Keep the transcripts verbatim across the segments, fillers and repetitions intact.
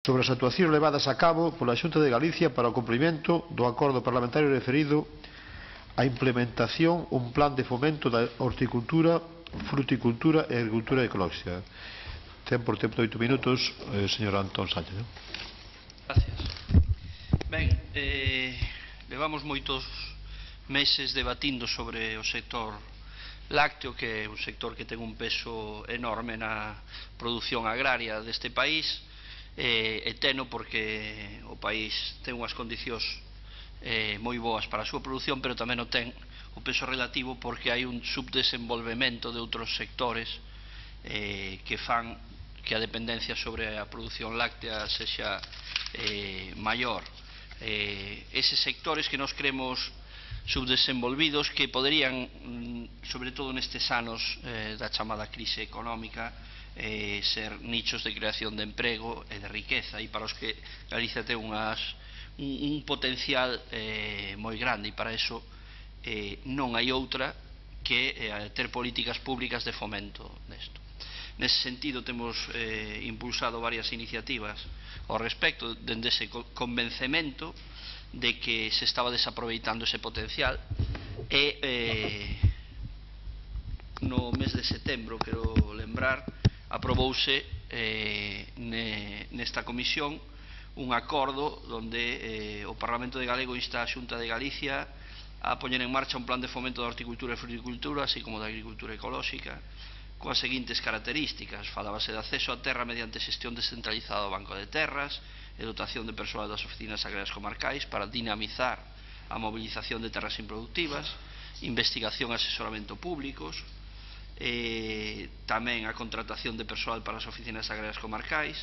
sobre as actuacións levadas a cabo pola Xunta de Galicia para o cumprimento do acordo parlamentario referido á implementación un plan de fomento da horticultura, fruticultura e agricultura ecolóxica. Ten por tempo de oito minutos, eh, señor Antón Sánchez. ¿no? Gracias. Ben, eh, levamos moitos meses debatindo sobre o sector lácteo, que é un sector que ten un peso enorme na produción agraria deste país, eh, e teno porque o país ten unhas condicións eh, moi boas para a súa produción, pero tamén o ten o peso relativo porque hai un subdesenvolvemento de outros sectores eh, que fan que a dependencia sobre a produción láctea sexa eh, maior. Eh, eses sectores que nos creemos subdesenvolvidos, que poderían, sobre todo nestes anos eh, da chamada crise económica, eh, ser nichos de creación de emprego e de riqueza, e para os que Galicia ten unhas, un, un potencial eh, moi grande, e para eso eh, non hai outra que eh, ter políticas públicas de fomento desto. Nese sentido temos eh, impulsado varias iniciativas ao respecto, dende ese convencemento de que se estaba desaproveitando ese potencial, e eh, no mes de setembro, quero lembrar, aprobouse eh, ne, nesta comisión un acordo onde eh, o Parlamento de Galego insta a Xunta de Galicia a poñer en marcha un plan de fomento da horticultura e fruticultura, así como da agricultura ecolóxica, coas seguintes características. Falábase de acceso á terra mediante xestión descentralizada do Banco de Terras e dotación de persoal das oficinas agrarias comarcais para dinamizar a movilización de terras improductivas, investigación e asesoramento públicos, eh, tamén a contratación de persoal para as oficinas agrarias comarcais,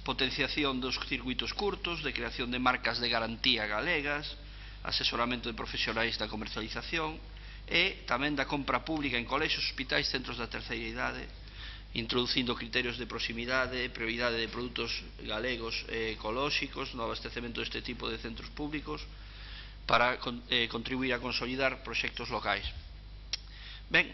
potenciación dos circuitos curtos, de creación de marcas de garantía galegas, asesoramento de profesionais da comercialización e tamén da compra pública en colexios, hospitais, centros da terceira idade, introducindo criterios de proximidade, prioridade de produtos galegos e ecolóxicos no abastecemento deste tipo de centros públicos para eh, contribuir a consolidar proxectos locais. Ben,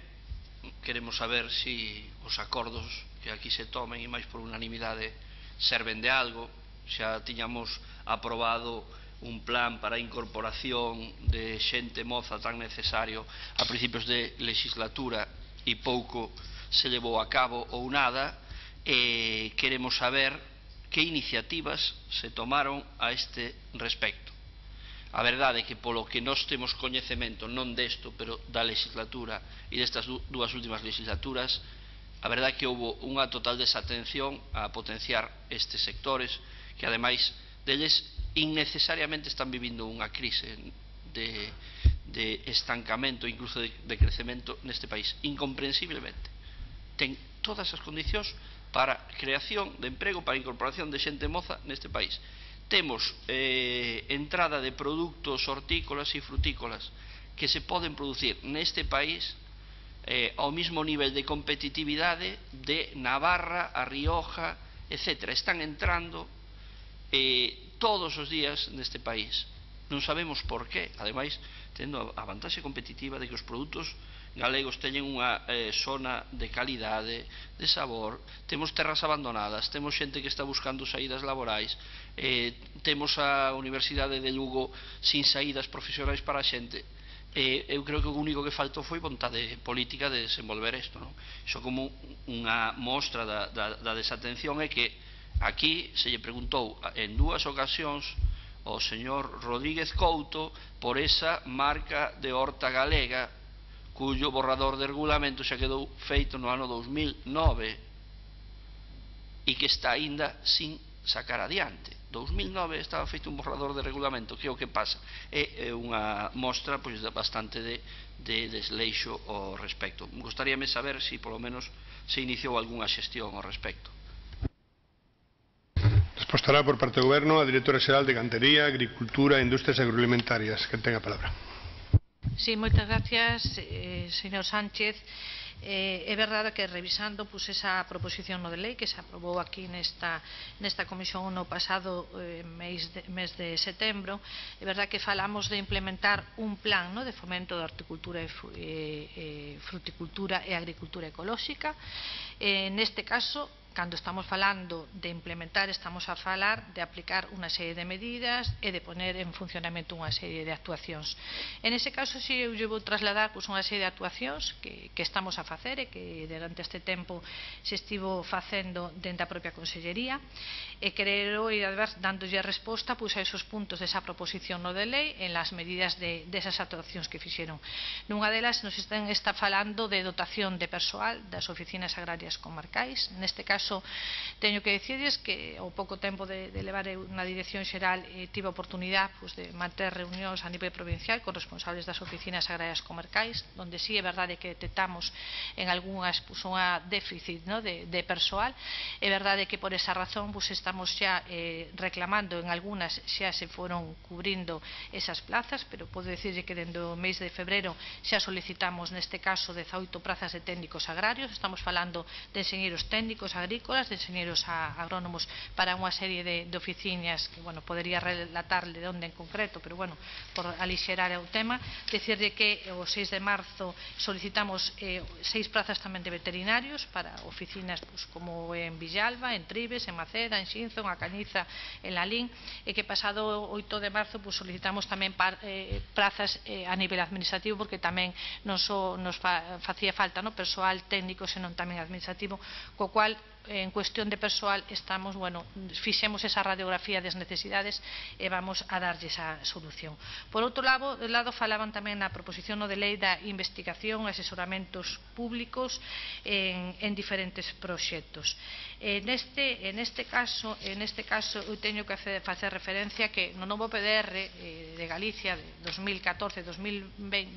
queremos saber se os acordos que aquí se tomen, e máis por unanimidade, serven de algo. Xa tiñamos aprobado un plan para a incorporación de xente moza tan necesario a principios de legislatura e pouco se levou a cabo ou nada, e queremos saber que iniciativas se tomaron a este respecto. A verdade é que polo que nós temos coñecemento, non desto, pero da legislatura e destas dúas últimas legislaturas, a verdade é que houve unha total desatención a potenciar estes sectores que ademais deles innecesariamente están vivindo unha crise de, de estancamento, incluso de, de crecemento neste país, incomprensiblemente. Ten todas as condicións para creación de emprego, para a incorporación de xente moza neste país. Temos eh, entrada de produtos hortícolas e frutícolas que se poden producir neste país eh, ao mismo nivel de competitividade de Navarra, a Rioja, etcétera. Están entrando eh, todos os días neste país. Non sabemos por qué, ademais tendo a vantaxe competitiva de que os produtos galegos teñen unha eh, zona de calidade, de sabor, temos terras abandonadas, temos xente que está buscando saídas laborais, eh, temos a Universidade de Lugo sin saídas profesionais para a xente. Eh, eu creo que o único que faltou foi vontade política de desenvolver isto, non? Iso como unha mostra da, da, da desatención é que aquí se lle preguntou en dúas ocasións ao señor Rodríguez Couto por esa marca de horta galega cuyo borrador de regulamento xa quedou feito no ano dous mil nove e que está aínda sin sacar adiante. dous mil nove estaba feito un borrador de regulamento, que é o que pasa? É unha mostra pois, bastante de, de desleixo ao respecto. Gostaríame saber se polo menos se iniciou algunha xestión ao respecto. Respostará por parte do Goberno a Directora Xeral de Gandería, Agricultura e Industrias Agroalimentarias. Que ten a palabra. Sí, moitas gracias, eh, señor Sánchez. Eh, é verdade que revisando pues, esa proposición no de lei que se aprobou aquí nesta, nesta comisión no pasado eh, mes, de, mes de setembro, é verdade que falamos de implementar un plan no, de fomento da horticultura e, e, e fruticultura e agricultura ecolóxica. Eh, neste caso, cando estamos falando de implementar, estamos a falar de aplicar unha serie de medidas e de poner en funcionamento unha serie de actuacións. En ese caso, si eu lle vou trasladar pues, unha serie de actuacións que, que estamos a facer e que durante este tempo se estivo facendo dentro da propia Consellería, e quero ir dándolle a resposta pues, a esos puntos desa proposición no de lei en las medidas de, desas actuacións que fixeron. Nunha delas nos están, está falando de dotación de persoal das oficinas agrarias comarcais. Neste caso, teño que dicirles que ao pouco tempo de, de levar na Dirección Xeral eh, tive a oportunidade pues, de manter reunións a nivel provincial con responsables das oficinas agrarias comarcais, onde sí é verdade que detectamos en algunhas pues, unha déficit no, de, de persoal. É verdade que por esa razón pues, estamos xa eh, reclamando en algunhas xa se foron cubrindo esas plazas, pero podo dicirlle que dende o mes de febreiro xa solicitamos neste caso dezaoito prazas de técnicos agrarios. Estamos falando de enxeñeiros técnicos agrícolas, de enxeñeiros agrónomos para unha serie de, de oficinas que, bueno, podería relatarle de onde en concreto, pero, bueno, por alixerar o tema, decirle que o seis de marzo solicitamos eh, seis plazas tamén de veterinarios para oficinas pues, como en Villalba, en Tribes, en Maceda, en Xinzo, en A Cañiza, en Lalín, e que pasado oito de marzo pues, solicitamos tamén par, eh, plazas eh, a nivel administrativo, porque tamén non só nos fa, facía falta no, persoal técnico, senón tamén administrativo, co cual en cuestión de persoal estamos, bueno, fixemos esa radiografía das necesidades e vamos a darlle esa solución. Por outro lado, lado falaban tamén na proposición no de lei da investigación e asesoramentos públicos en, en diferentes proxectos. En este, en este caso, en este caso eu teño que facer referencia que no novo P D R eh, de Galicia de dos mil catorce a dos mil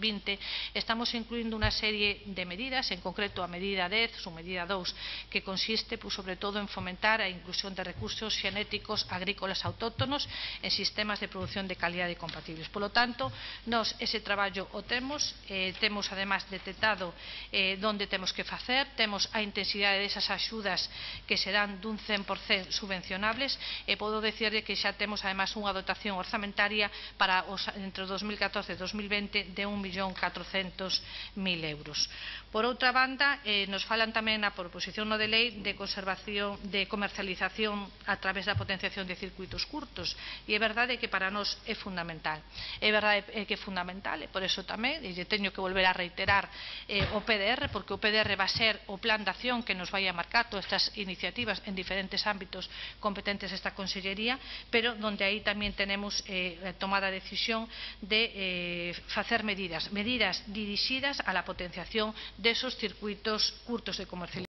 vinte estamos incluindo unha serie de medidas, en concreto a medida dez, ou medida dous, que consiste pues, sobre todo en fomentar a inclusión de recursos xenéticos agrícolas autóctonos en sistemas de produción de calidade compatibles. Por lo tanto, nós ese traballo o temos, eh, temos además detectado eh, onde temos que facer, temos a intensidade desas axudas que serán dun cen por cento subvencionables, e podo dicirle que xa temos además unha dotación orzamentaria para os, entre dos mil catorce e dos mil vinte de un millón catrocentos mil euros. Por outra banda, eh, nos falan tamén na proposición no de lei de conservación, de comercialización a través da potenciación de circuitos curtos, e é verdade que para nós é fundamental. É verdade que é fundamental, e por eso tamén, e teño que volver a reiterar eh, o P D R, porque o P D R va a ser o plan de acción que nos vai a marcar todas estas iniciativas en diferentes ámbitos competentes esta Consellería, pero donde aí tamén tenemos eh, tomada a decisión de eh, facer medidas, medidas dirixidas a la potenciación de esos circuitos curtos de comercialización.